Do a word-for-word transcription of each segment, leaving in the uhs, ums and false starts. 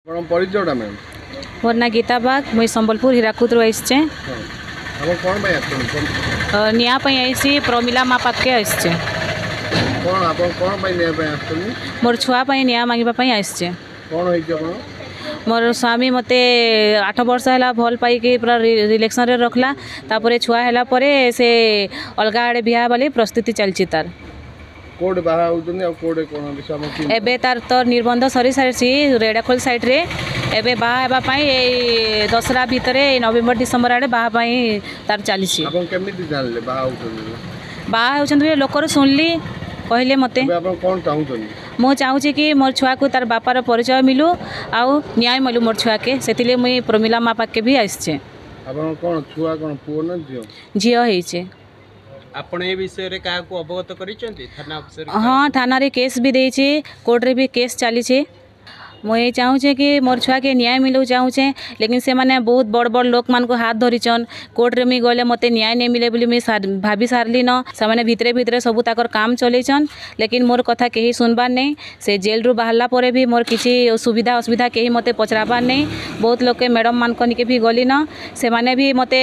ଆପଣ ପରିଚୟଟା ମ୍ୟାମ୍? ମୋର ନାଁ ଗୀତା ବାଗ, ମୁଇଁ ସମ୍ବଲପୁର ହୀରାକୁଦରୁ ଆସିଛେ। ହଁ, ଆପଣ କ'ଣ ପାଇଁ ଆସିଛନ୍ତି? ନ୍ୟାୟ ପାଇଁ ଆଇସି, ପ୍ରମିଲା ମା ପାଖକେ ଆସିଛେ। କ'ଣ ଆପଣ କ'ଣ ପାଇଁ ନ୍ୟାୟ ପାଇଁ ଆସିଛନ୍ତି? ମୋର ଛୁଆ ପାଇଁ ନ୍ୟାୟ ମାଗିବା ପାଇଁ ଆସିଛେ। କ'ଣ ହେଇଛି ଆପଣ? ମୋର ସ୍ୱାମୀ ମୋତେ ଆଠ ବର୍ଷ ହେଲା ଭଲ ପାଇକି ପୁରା ରିଲେସନ୍ରେ ରଖିଲା। ତାପରେ ଛୁଆ ହେଲା ପରେ ସେ ଅଲଗା ଆଡ଼େ ବିହା ବୋଲି ପ୍ରସ୍ତୁତି ଚାଲିଛି ତାର। କୋଉଠି ବାହା ହେଉଛନ୍ତି ଆଉ କୋଉଠି କ'ଣ ବିଷୟ ଆମ କି? ଏବେ ତାର ତ ନିର୍ବନ୍ଧ ସରି ସାରିଛି ରେଢ଼ାଖୋଲ ସାଇଡ଼୍ରେ। ଏବେ ବାହା ହେବା ପାଇଁ ଏଇ ଦଶହରା ଭିତରେ, ଏଇ ନଭେମ୍ବର ଡିସେମ୍ବର ଆଡ଼େ ବାହା ପାଇଁ ତାର ଚାଲିଛି। ଆପଣ କେମିତି ଜାଣିଲେ ବାହା ହେଉଛନ୍ତି? ବାହା ହେଉଛନ୍ତି ବୋଲି ଲୋକରୁ ଶୁଣିଲି, କହିଲେ ମୋତେ। ଏବେ ଆପଣ କ'ଣ ଚାହୁଁଛନ୍ତି? ମୁଁ ଚାହୁଁଛି କି ମୋର ଛୁଆକୁ ତାର ବାପାର ପରିଚୟ ମିଲୁ ଆଉ ନ୍ୟାୟ ମିଲୁ ମୋର ଛୁଆକେ। ସେଥିଲାଗି ମୁଇଁ ପ୍ରମିଲା ମା ପାଖକେ ବି ଆସିଛେ। ଆପଣ କ'ଣ ଛୁଆ କ'ଣ ପୁଅ ନା ଝିଅ? ଝିଅ ହେଇଛେ। ଆପଣ ଏ ବିଷୟରେ କାହାକୁ ଅବଗତ କରିଛନ୍ତି, ଥାନା ଅଫିସର? ହଁ, ଥାନାରେ କେସ୍ ବି ଦେଇଛି, କୋର୍ଟରେ ବି କେସ୍ ଚାଲିଛି। ମୁଇଁ ଚାହୁଁଛେ କି ମୋର ଛୁଆକେ ନ୍ୟାୟ ମିଲୁ ଚାହୁଁଛେ। ଲେକିନ୍ ସେମାନେ ବହୁତ ବଡ଼ ବଡ଼ ଲୋକମାନଙ୍କୁ ହାତ ଧରିଛନ୍। କୋର୍ଟରେ ମୁଇଁ ଗଲେ ମୋତେ ନ୍ୟାୟ ନାଇଁ ମିଲେ ବୋଲି ମୁଇଁ ଭାବି ସାରିଲିନ। ସେମାନେ ଭିତରେ ଭିତରେ ସବୁ ତାଙ୍କର କାମ ଚଲେଇଛନ୍, ଲେକିନ୍ ମୋର କଥା କେହି ଶୁଣବାର୍ ନେଇ। ସେ ଜେଲ୍ରୁ ବାହାରିଲା ପରେ ବି ମୋର କିଛି ସୁବିଧା ଅସୁବିଧା କେହି ମୋତେ ପଚରାବାର୍ ନେଇ। ବହୁତ ଲୋକେ ମ୍ୟାଡ଼ମ୍ ମାନଙ୍କ ନିକେ ବି ଗଲିନ, ସେମାନେ ବି ମୋତେ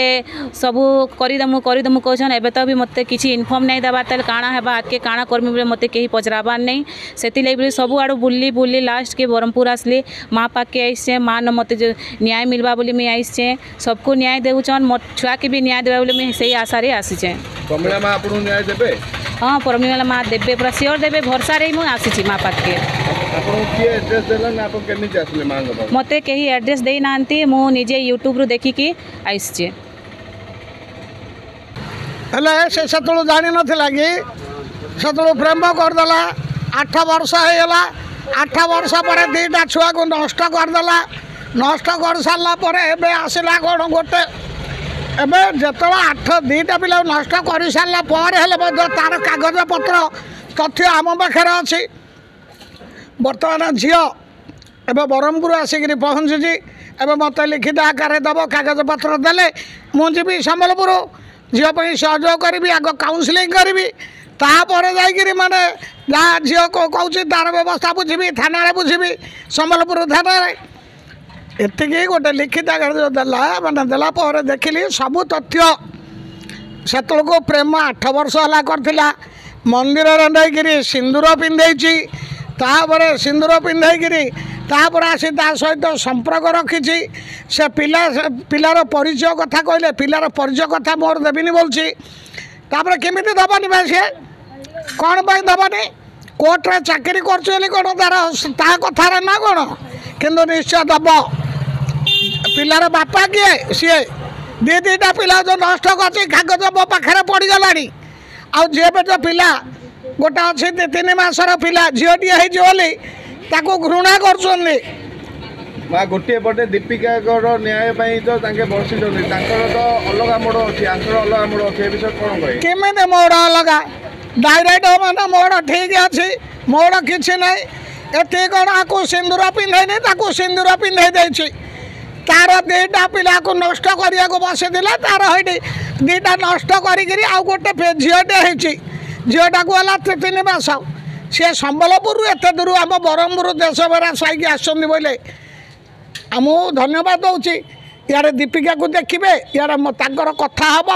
ସବୁ କରିଦେମୁ କରିଦେମୁ କହୁଛନ୍। ଏବେ ତ ବି ମୋତେ କିଛି ଇନଫର୍ମ ନାଇଁ ଦେବାର୍। ତାହେଲେ କାଣା ହେବା, ଆଗ୍କେ କାଣା କର୍ମି ବୋଲି ମୋତେ କେହି ପଚରାବାର୍ ନେଇ। ସେଥିଲାଗି ବୋଲି ସବୁଆଡ଼ୁ ବୁଲି ବୁଲି ଲାଷ୍ଟକେ ବ୍ରହ୍ମପୁର ଆସିଲି, ମା ପାଖକେ ଆଇସେ। ମା ନ ମୋତେ ନ୍ୟାୟ ମିଲବା ବୋଲି ମୁଇଁ ଆଇସଛେ। ସବକୁ ନ୍ୟାୟ ଦେଉଛନ୍, ମୋ ଛୁଆକେ ବି ନ୍ୟାୟ ଦେବା ବୋଲି ମୁଇଁ ସେଇ ଆଶାରେ ଆସିଛେ। ପ୍ରମିଳା ମା ଆପଣଙ୍କୁ ନ୍ୟାୟ ଦେବେ? ହଁ, ପ୍ରମିଳା ମା ଦେବେ, ପୁରା ସିଓର ଦେବେ। ଭରସାରେ ହିଁ ମୁଁ ଆସିଛି ମା ପାଖକେ। ଆପଣଙ୍କୁ କିଏ ଆଡ୍ରେସ୍ ଦେଲା ନା ଆପଣ କେମିତି ଆସିଲେ ମାଙ୍କ ପାଖକୁ? ମୋତେ କେହି ଆଡ୍ରେସ୍ ଦେଇନାହାନ୍ତି, ମୁଁ ନିଜେ ୟୁଟ୍ୟୁବରୁ ଦେଖିକି ଆସିଛି। ହେଲେ ସେ ସେତେବେଳୁ ଜାଣିନଥିଲା କି ସେତେବେଳୁ ପ୍ରେମ କରିଦେଲା। ଆଠ ବର୍ଷ ହେଇଗଲା। ଆଠ ବର୍ଷ ପରେ ଦୁଇଟା ଛୁଆକୁ ନଷ୍ଟ କରିଦେଲା। ନଷ୍ଟ କରିସାରିଲା ପରେ ଏବେ ଆସିଲା କ'ଣ ଗୋଟେ, ଏବେ ଯେତେବେଳେ ଆଠ ଦୁଇଟା ପିଲାକୁ ନଷ୍ଟ କରିସାରିଲା ପରେ ହେଲେ ମଧ୍ୟ ତା'ର କାଗଜପତ୍ର ତଥ୍ୟ ଆମ ପାଖରେ ଅଛି। ବର୍ତ୍ତମାନ ଝିଅ ଏବେ ବ୍ରହ୍ମପୁର ଆସିକିରି ପହଞ୍ଚିଛି। ଏବେ ମୋତେ ଲିଖିତ ଆକାରରେ ଦେବ, କାଗଜପତ୍ର ଦେଲେ ମୁଁ ଯିବି ସମ୍ବଲପୁର, ଝିଅ ପାଇଁ ସହଯୋଗ କରିବି, ଆଗ କାଉନସିଲିଂ କରିବି, ତାପରେ ଯାଇକିରି ମାନେ ଯାହା ଝିଅ କହୁଛି ତା'ର ବ୍ୟବସ୍ଥା ବୁଝିବି, ଥାନାରେ ବୁଝିବି, ସମ୍ବଲପୁର ଥାନାରେ। ଏତିକି ଗୋଟେ ଲିଖିତ ଆକାରରେ ଯେଉଁ ଦେଲା, ମାନେ ଦେଲା ପରେ ଦେଖିଲି ସବୁ ତଥ୍ୟ। ସେତେବେଳକୁ ପ୍ରେମ ଆଠ ବର୍ଷ ହେଲା କରିଥିଲା। ମନ୍ଦିରରେ ନେଇକିରି ସିନ୍ଦୁର ପିନ୍ଧେଇଛି, ତାପରେ ସିନ୍ଦୁର ପିନ୍ଧେଇକିରି ତାପରେ ଆସି ତା ସହିତ ସମ୍ପର୍କ ରଖିଛି। ସେ ପିଲା ପିଲାର ପରିଚୟ କଥା କହିଲେ, ପିଲାର ପରିଚୟ କଥା ମୋର ଦେବିନି ବୋଲୁଛି। ତାପରେ କେମିତି ଦେବନି ବା ସିଏ? କ'ଣ ପାଇଁ ଦେବନି? କୋର୍ଟରେ ଚାକିରି କରୁଛି ବୋଲି କ'ଣ ତାର ତା କଥାରେ ନା କ'ଣ? କିନ୍ତୁ ନିଶ୍ଚୟ ଦେବ। ପିଲାର ବାପା କିଏ? ସିଏ ଦୁଇ ଦୁଇଟା ପିଲା ଯେଉଁ ନଷ୍ଟ କରିଛି, କାଗଜ ମୋ ପାଖରେ ପଡ଼ିଗଲାଣି। ଆଉ ଯିଏ ଯେଉଁ ପିଲା ଗୋଟେ ଅଛି, ଦୁଇ ତିନି ମାସର ପିଲା, ଝିଅଟିଏ ହେଇଛି ବୋଲି ତାକୁ ଘୃଣା କରୁଛନ୍ତି। ମା, ଗୋଟିଏ ପଟେ ଦୀପିକାଙ୍କର ନ୍ୟାୟ ପାଇଁ ତ ତାଙ୍କେ ବସିଛନ୍ତି, ତାଙ୍କର ତ ଅଲଗା ମୋଡ଼ ଅଛି, ଆଙ୍କର ଅଲଗା ମୋଡ଼ ଅଛି, ଏ ବିଷୟରେ କ'ଣ କହିବେ? କେମିତି ମୋଡ଼ ଅଲଗା? ଡାଇରେକ୍ଟ ମାନେ ମୋଡ଼ ଠିକ୍ ଅଛି, ମୋଡ଼ କିଛି ନାହିଁ। ଏଠି କ'ଣ ଆକୁ ସିନ୍ଦୁର ପିନ୍ଧେଇନି, ତାକୁ ସିନ୍ଦୁର ପିନ୍ଧେଇ ଦେଇଛି। ତାର ଦୁଇଟା ପିଲାକୁ ନଷ୍ଟ କରିବାକୁ ବସିଥିଲା, ତାର ହେଇଠି ଦୁଇଟା ନଷ୍ଟ କରିକିରି ଆଉ ଗୋଟେ ଝିଅଟେ ହେଇଛି। ଝିଅଟାକୁ ହେଲା ତିନି ମାସ। ସିଏ ସମ୍ବଲପୁରରୁ ଏତେ ଦୂର ଆମ ବ୍ରହ୍ମପୁର ଦେଶଭରା ସାଇକି ଆସିଛନ୍ତି ବୋଇଲେ ମୁଁ ଧନ୍ୟବାଦ ଦେଉଛି। ଇଆଡ଼େ ଦୀପିକାକୁ ଦେଖିବେ, ଇଆଡ଼େ ତାଙ୍କର କଥା ହେବ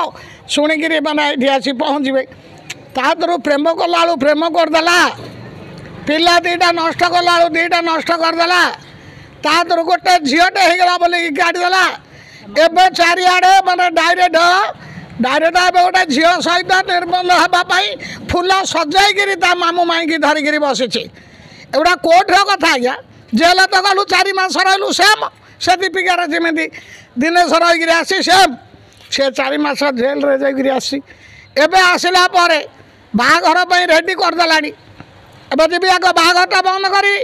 ଶୁଣିକିରି ମାନେ ଏଇଠି ଆସି ପହଞ୍ଚିବେ। ତା ଦେହରୁ ପ୍ରେମ କଲାବେଳୁ ପ୍ରେମ କରିଦେଲା, ପିଲା ଦୁଇଟା ନଷ୍ଟ କଲାବେଳୁ ଦୁଇଟା ନଷ୍ଟ କରିଦେଲା। ତା ଦେହରୁ ଗୋଟେ ଝିଅଟେ ହେଇଗଲା ବୋଲିକି କାଢ଼ିଦେଲା। ଏବେ ଚାରିଆଡ଼େ ମାନେ ଡାଇରେକ୍ଟ ଡାଇରେକ୍ଟ ଏବେ ଗୋଟେ ଝିଅ ସହିତ ନିର୍ବନ୍ଧ ହେବା ପାଇଁ ଫୁଲ ସଜାଇକିରି ତା ମାମୁଁ ମାଇଁକି ଧରିକିରି ବସିଛି। ଏଗୁଡ଼ା କୋର୍ଟର କଥା ଆଜ୍ଞା। ଜେଲ ତ ଗଲୁ, ଚାରି ମାସ ରହିଲୁ, ସେମ୍ ସେ ଦୀପିକାର ଯେମିତି ଦିନେଶ ରହିକିରି ଆସି, ସେମ୍ ସେ ଚାରି ମାସ ଜେଲରେ ଯାଇକିରି ଆସିଛି। ଏବେ ଆସିଲା ପରେ ବାହାଘର ପାଇଁ ରେଡ଼ି କରିଦେଲାଣି। ଏବେ ଯିବି ଆଗ ବାହାଘରଟା ବନ୍ଦ କରିବି।